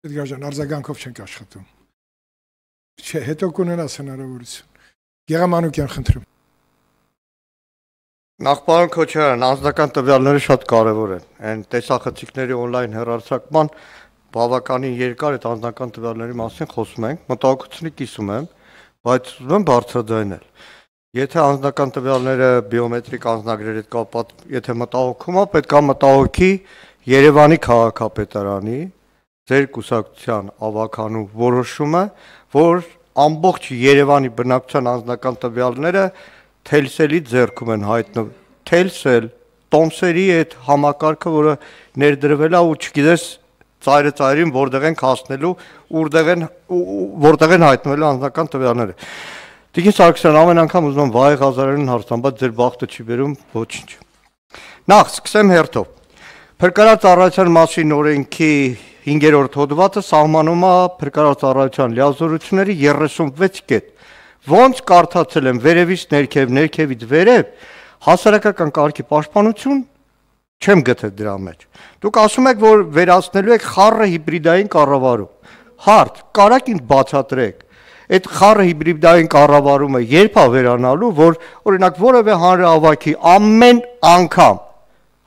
Էդգար ջան, արձագանքով չենք աշխատում։ Չէ, հետո կունենաս հնարավորություն։ Գեղամանուկյան, խնդրում։ Նախ պարոն Քոչարյան, անձնական տվյալները շատ կարևոր են։ Այն տեսախցիկների on-line հեռարձակման բավականին երկար այդ անձնական տվյալների մասին խոսում ենք, մտահոգությունի կիսում եմ, բայց ուզում եմ բարձրաձայնել։ Եթե անձնական տվյալները բիոմետրիկ անձնագրերի հետ կապված, եթե մտահոգում է, պետք է մտահոգի Երևանի քաղաքապետարանի ձեր կուսակցության ավականու որոշումը, որ ամբողջ Երևանի բնակչության անձնական տվյալները Թելսելի ձեռքում են հայտնվում, Թելսել, Տոմսերի այդ համակարգը, որը ներդրվել է ու չգիտես ծայրը ծայրին որտեղ են հասնելու, որտեղ են հայտնվելու անձնական տվյալները։ Տիկին Սարգսյան, ամեն անգամ ուզում եմ վայ Ղազարյանին հարցամ, բայց ձեր բախտը չի բերում ոչինչ։ Նախ սկսեմ հերթով։ Փրկարար ծառայության մասին օրենքի 5-րդ հոդվածը սահմանում է փրկարար ծառայության լիազորությունների 36 կետ։ Ոնց կարդացել եմ վերևից ներքև, ներքևից վերև, հասարակական կարգի պաշտպանություն չեմ գտել դրա մեջ։ Դուք ասում եք, որ վերացնելու եք խառը հիբրիդային կառավարում։ Հարց, կարաք ինձ բացատրեք, այդ խառը հիբրիդային կառավարումը երբ է վերանալու, որ օրինակ որևէ հանրահավաքի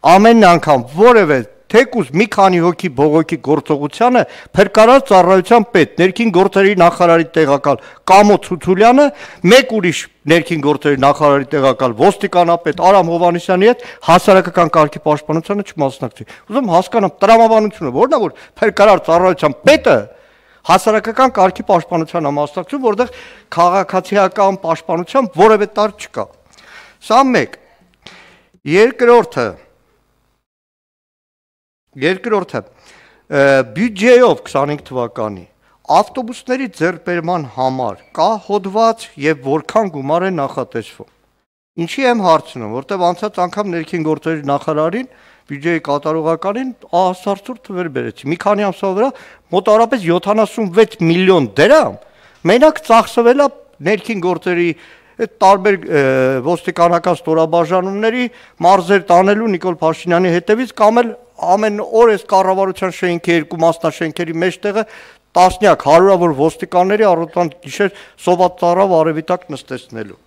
ամեն անգամ որևէ թեկուզ մի քանի հոգի բողոքի գործողությանը փրկարար ծառայության պետ, ներքին գործերի նախարարի տեղակալ Կամո Ցուցուլյանը, մեկ ուրիշ ներքին գործերի նախարարի տեղակալ ոստիկանապետ Արամ Հովհաննիսյանի հետ հասարակական կարգի պաշտպանությանը չմասնակցի։ Ուզում հասկանամ տրամաբանությունը որն է, որ փրկարար ծառայության պետը հասարակական կարգի պաշտպանությանը մասնակցում, որտեղ քաղաքացիական պաշտպանության որևէ տար չկա։ Սա մեկ։ Երկրորդը բյուջեով 25 թվականի ավտոբուսների ձեռքբերման համար կա հոդված եւ որքան գումար է նախատեսվում։ Ինչի եմ հարցնում, որտեղ անցած անգամ ներքին գործերի նախարարին բյուջեի կատարողականին ահասարցուր թվեր բերեցի։ Մի քանի ամսվա վրա մոտավորապես 76 միլիոն դրամ մենակ ծախսվել է ներքին գործերի այդ տարբեր ոստիկանական ստորաբաժանումների մարզեր տանելու Նիկոլ Փաշինյանի հետևից կամ էլ ամեն օր այս կառավարության շենքի երկու մասնաշենքերի մեջտեղը տասնյակ հարյուրավոր ոստիկանների առավոտյան գիշեր սոված ծառավ արևիտակ նստեցնելու։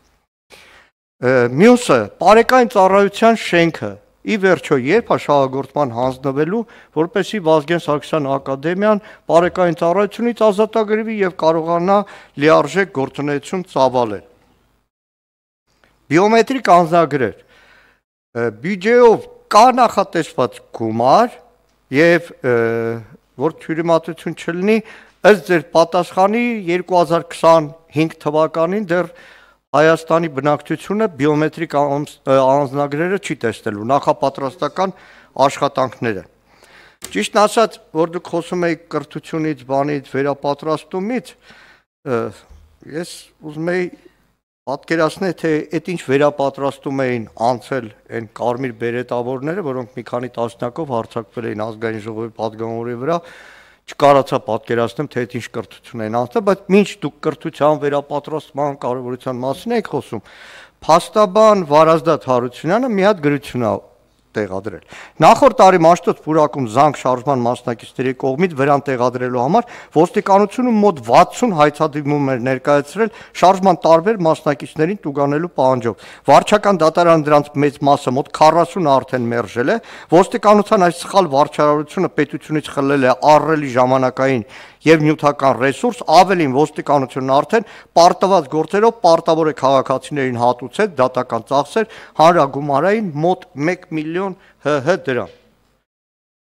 Մյուսը բարեկային ծառայության շենքը ի վերջո երբ է շահագործման հանձնվելու, որպեսզի Վազգեն Սարգսյան ակադեմիան բարեկային ծառայությունից ազատագրվի եւ կարողանա լիարժեք գործունեություն ծավալել։ Բիոմետրիկ անձնագրեր բյուջեով կա նախատեսված գումար եւ որ թյուրիմացություն չլինի ըստ ձեր պատասխանի 2025 թվականին դեռ Հայաստանի բնակչությունը բիոմետրիկ անձնագրերը չի տեսնելու նախապատրաստական աշխատանքները։ Ճիշտն ասած, որ դուք խոսում եք կրթությունից, բանից, վերապատրաստումից, ես ուզում եի պատկերացնել, թե այդ ինչ վերապատրաստում էին անցել այն կարմիր բերետավորները, որոնք մի քանի տասնյակով հարձակվել էին ազգային ժողովի պատգամավորի վրա, չկարողացա պատկերացնեմ, թե այդ ինչ կրթություն են անցել, բայց մինչ դուք կրթության վերապատրաստման կարևորության մասին եք խոսում, փաստաբան Վարազդատ Հարությունյանը մի հատ գրություն է տեղադրել։ Նախորդ տարի Մաշտոց պուրակում զանգ շարժման մասնակիցների կողմից վրան տեղադրելու համար ոստիկանությունը մոտ 60 հայցադիմում էր ներկայացրել շարժման տարբեր մասնակիցներին տուգանելու պահանջով։ Վարչական դատարանը դրանց մեծ մասը մոտ 40-ը արդեն մերժել է։ Ոստիկանության այս սխալ վարչարարությունը պետությունից խլել է ահռելի ժամանակային եւ նյութական ռեսուրս, ավելին ոստիկանությունն արդեն պարտված գործերով պարտավոր է քաղաքացիներին հատուցել դատական ծախսեր հանրագումարային մոտ 1 միլիոն ՀՀ դրամ։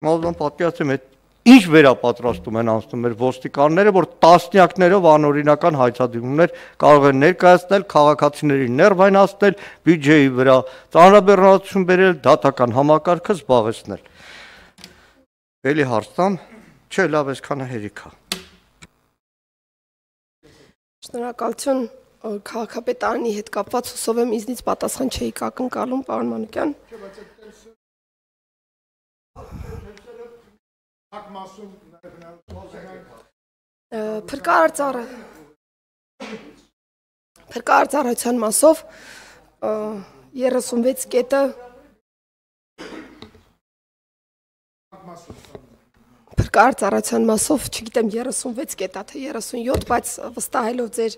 Մոլդոն պատկերացրեմ այդ ինչ վերապատրաստում են անցնում մեր ոստիկանները, որ տասնյակներով անօրինական հայցադիմումներ կարող են ներկայացնել, քաղաքացիներին ներվայնացնել, բյուջեի վրա ծանրաբեռնվածություն բերել, դատական համակարգը զբաղեցնել։ Էլի հարց տամ, չէ, լավ այսքանը հերիք է։ Շնորհակալություն քաղաքապետարանի հետ կապված հուսով եմ ինձնից պատասխան չէիք ակնկալում, պարոն Մանուկյան։ Փրկարար ծառայության մասով 36 կետը փրկարար ծառայության մասով, չգիտեմ 36 կետա թե 37, բայց վստահելով ձեր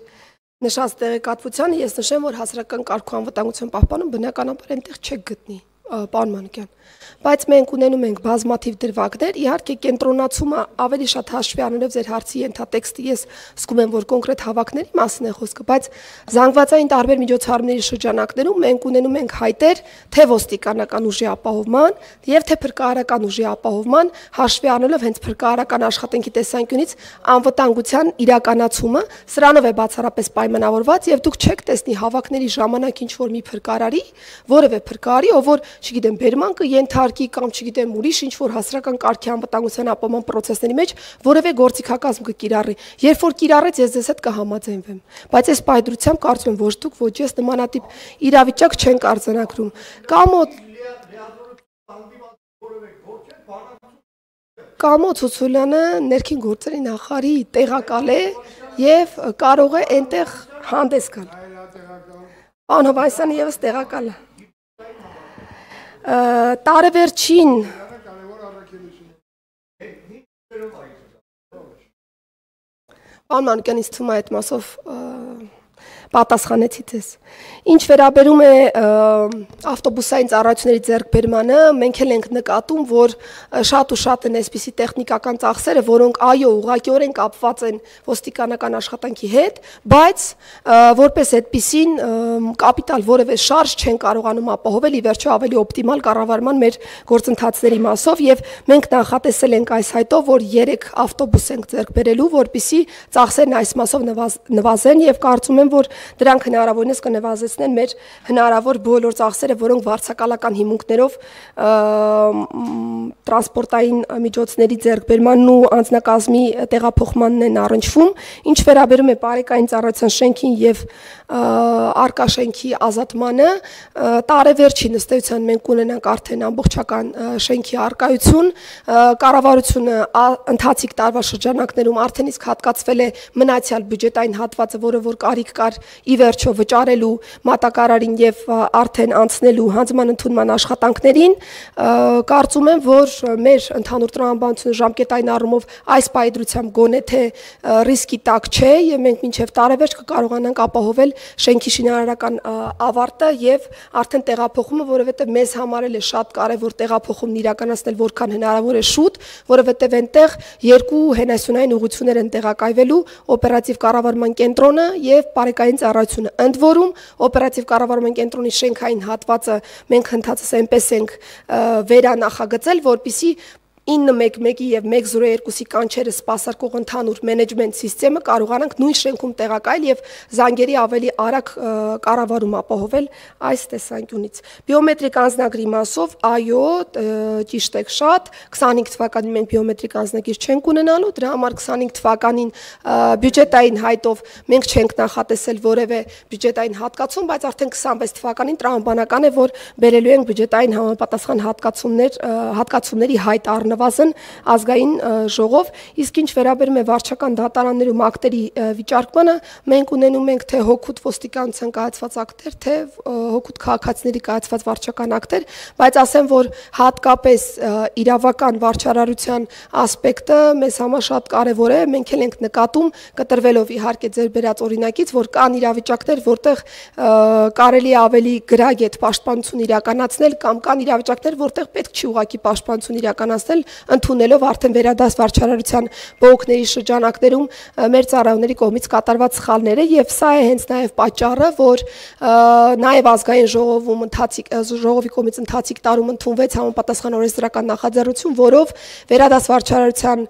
նշած տեղեկատվությանը ես նշեմ, որ հասարակական կարգու անվտանգության պահպանում բնականաբար այնտեղ չեք գտնի, պարոն Մանուկյան, բայց մենք ունենում ենք բազմաթիվ դրվագներ, իհարկե կենտրոնացումը ավելի շատ հաշվի առնելով ձեր հարցի ենթատեքստը, ես զգում եմ, որ կոնկրետ հավաքների մասին է խոսքը, բայց զանգվածային տարբեր միջոցառումների շրջանակներում մենք ունենում ենք հայտեր թե ոստիկանական ուժի ապահովման եւ թե փրկարարական ուժի ապահովման, հաշվի առնելով հենց փրկարարական աշխատանքի տեսանկյունից անվտանգության իրականացումը, սրանով է բացառապես պայմանավորված եւ դուք չեք տեսնի հավաքների ժամանակ ինչ որ մի փրկարարի, որևէ փրկարարի, ով որ, չգիտեմ, բերման կենթարկի կամ չգիտեմ ուրիշ ինչ որ հասարակական կարգի անվտանգության ապահովման process-ների մեջ որևէ գործիքակազմ կկիրառի։ Երբ որ կիրառեց, ես ձեզ հետ կհամաձայնվեմ։ Բայց այս պայդրությամբ կարծում եմ, ոչ դուք, ոչ ես նմանատիպ իրավիճակ չենք արձանագրում։ Կամո Ցուցուլյանը ներքին գործերի նախարարի տեղակալ է եւ կարող է այնտեղ հանդես գալ։ Պարոն Հովհաննիսյանը եւս տեղակալ է։ Տարեվերջին Պարոն Մանուկյան, ինձ թվում է այդ մասով պատասխանեցի ձեզ։ Ինչ վերաբերում է ավտոբուսային ծառայությունների ձեռքբերմանը, մենք էլ ենք նկատում, որ շատ ու շատ են այսպիսի տեխնիկական ծախսերը, որոնք այո, ուղղակիորեն կապված են ոստիկանական աշխատանքի հետ, բայց որպես այդպիսին կապիտալ որևէ շարժ չեն կարողանում ապահովել ի վերջո ավելի օպտիմալ կառավարման մեր գործընթացների մասով եւ մենք նախատեսել ենք այս հայտով, որ 3 ավտոբուս ենք ձեռքբերելու, որպիսի ծախսերն այս մասով նվազեն եւ կարծում եմ, որ դրանք հնարավորինս կնվազեցնեն մեր հնարավոր բոլոր ծախսերը, որոնք վարձակալական հիմունքներով տրանսպորտային միջոցների ձեռքբերմանն ու անձնակազմի տեղափոխմանն են առնչվում, ինչ վերաբերում է բարեկային ծառայության շենքին եւ արկա շենքի ազատմանը, տարեվերջին ըստ էության մենք ունենանք արդեն ամբողջական շենքի արկայություն, կառավարությունը ընթացիկ տարվա շրջանակներում արդեն իսկ հատկացվել է մնացյալ բյուջետային հատվածը, որը որ կարիք կար ի վերջո վճարելու մատակարարին եւ արդեն անցնելու հանձնման ընդունման աշխատանքներին, կարծում եմ, որ մեր ընդհանուր տրամաբանությունը ժամկետային առումով այս պայդրությամբ գոնե թե ռիսկի տակ չէ եւ մենք մինչեւ տարեվերջ կկարողանանք ապահովել շենքի շինարարական ավարտը եւ արդեն տեղափոխումը, որովհետեւ մեզ համար էլ է շատ կարեւոր տեղափոխումն իրականացնել որքան հնարավոր է շուտ, որովհետեւ այնտեղ երկու հենասյունային ուղղություններ են տեղակայվելու օպերատիվ կառավարման կենտրոնը եւ բարեկային ծառայությունը։ Ընդ որում օպերատիվ կառավարման կենտրոնի շենքային հատվածը մենք հնդածս այնպես ենք վերանախագծել, որպիսի 911-ի եւ 102-ի կանչերը սպասարկող ընդհանուր մենեջմենթ համակարգը կարողանանք նույն շենքում տեղակայել եւ զանգերի ավելի արագ կառավարում ապահովել այս տեսանկյունից։ Բիոմետրիկ անձնագրի մասով, այո, ճիշտ եք շատ, 25 թվականին մենք բիոմետրիկ անձնագիր չենք ունենալու, դրա համար 25 թվականին բյուջետային հայտով մենք չենք նախատեսել որևէ բյուջետային հատկացում, բայց արդեն 26 թվականին տրամաբանական է, որ բերելու ենք բյուջետային համապատասխան հատկացումների հայտ առնվազն ազգային ժողով, իսկ ինչ վերաբերում է վարչական դատարաններում ակտերի վիճարկմանը, մենք ունենում ենք թե հօգուտ ոստիկանության կայացված ակտեր, թե հօգուտ քաղաքացիների կայացված վարչական ակտեր, բայց ասեմ, որ հատկապես իրավական վարչարարության ասպեկտը մեզ համար շատ կարևոր է, մենք էլ ենք նկատում, կտրվելով իհարկե ձեր բերած օրինակից, որ կան իրավիճակներ, որտեղ կարելի է ավելի գրագետ պաշտպանություն իրականացնել կամ կան իրավիճակներ, որտեղ պետք չի ուղղակի պաշտպանություն իրականացնել, ընդունելով արդեն վերադաս վարչարարության բողոքների շրջանակներում մեր ծառայողների կողմից կատարված սխալները եւ սա է հենց նաեւ պատճառը, որ նաեւ ազգային ժողովի կողմից ընթացիկ տարում ընդունվեց համապատասխան օրենսդրական նախաձեռնություն, որով վերադաս վարչարարության